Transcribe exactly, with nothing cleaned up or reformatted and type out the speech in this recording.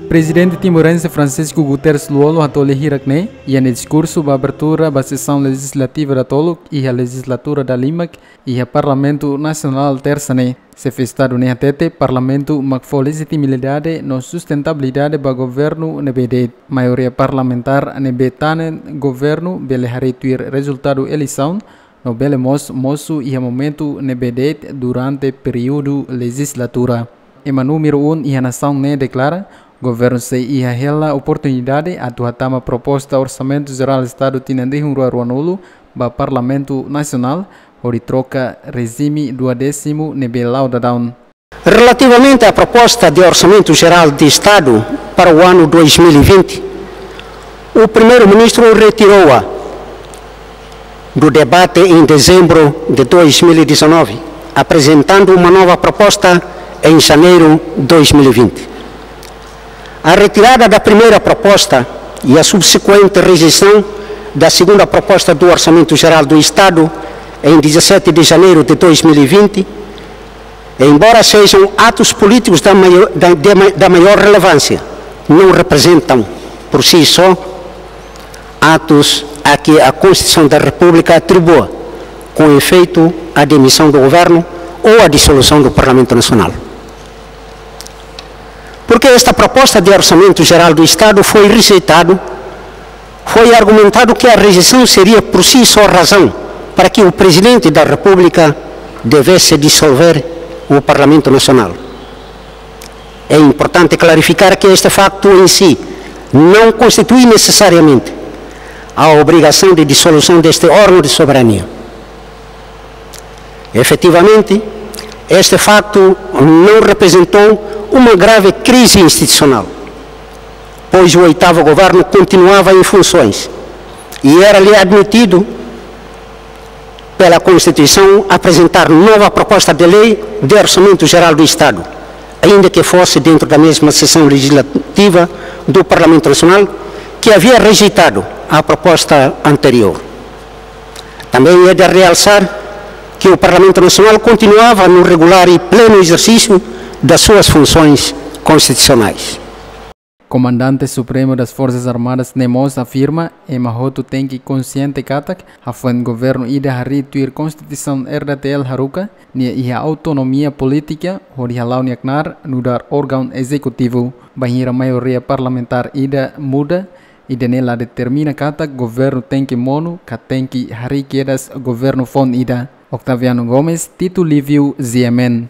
Prezidente timorense Francisco Guterres Lú-Olo hato'o lia hirak-ne'e iha nia diskursu ba abertura ba sesaun lejizlativa datoluk iha lejizlatura dalimak iha Parlamentu Nasionál, tersa ne'e. Xefe Estadu ne'e hatete Parlamentu mak fó lejitimidade no sustentabilidade ba governu ne'ebé de'it. Maioria parlamentár ne'ebé tanen governu bele harii tuir rezultadu eleisaun, no bele mós mosu iha momentu ne'ebé de'it durante períodu lejizlatura. Ema númeru um iha nasaun ne'e deklara, governu sei iha hela oportunidade atu hatama proposta Orsamentu Jerál Estadu tinan rihun rua ruanulu ba Parlamentu Nasionál, hodi troka rejime duodésimu ne'ebé la'o daudaun. Relativamente à proposta de Orçamento Geral de Estado para o ano dois mil e vinte, o Primeiro-Ministro retirou-a do debate em dezembro de dois mil e dezanove, apresentando uma nova proposta em janeiro de dois mil e vinte. A retirada da primeira proposta e a subsequente rejeição da segunda proposta do Orçamento Geral do Estado, em dezassete de janeiro de dois mil e vinte, embora sejam atos políticos da maior, da, de ma-, da maior relevância, não representam, por si só, atos a que a Constituição da República atribua, com efeito, a demissão do governo ou a dissolução do Parlamento Nacional. Porque esta proposta de Orçamento Geral do Estado foi rejeitado, foi argumentado que a rejeição seria por si só razão para que o Presidente da República devesse dissolver o Parlamento Nacional. É importante clarificar que este facto em si não constitui necessariamente a obrigação de dissolução deste órgão de soberania. Efetivamente, este facto não representou uma grave crise institucional, pois o oitavo governo continuava em funções e era-lhe admitido pela Constituição apresentar nova proposta de lei de Orçamento Geral do Estado, ainda que fosse dentro da mesma sessão legislativa do Parlamento Nacional que havia rejeitado a proposta anterior. Também é de realçar que o Parlamento Nacional continuava no regular e pleno exercício das suas funções constitucionais. Komandante Supremu das Forsas Armadas ne'e mós afirma, ema hotu tenke konxiente katak hafoin governu ida harii tuir Konstituisaun R D T L haruka, nia iha autonomia polítika hodi hala'o nia knaar nu'udar órgaun ezekutivu. Bainhira maioria parlamentár ida muda, ida-ne'e la determina katak governu tenke monu ka tenke harii kedas governu foun ida. Octaviano Gomes, Tito Livio, G M N.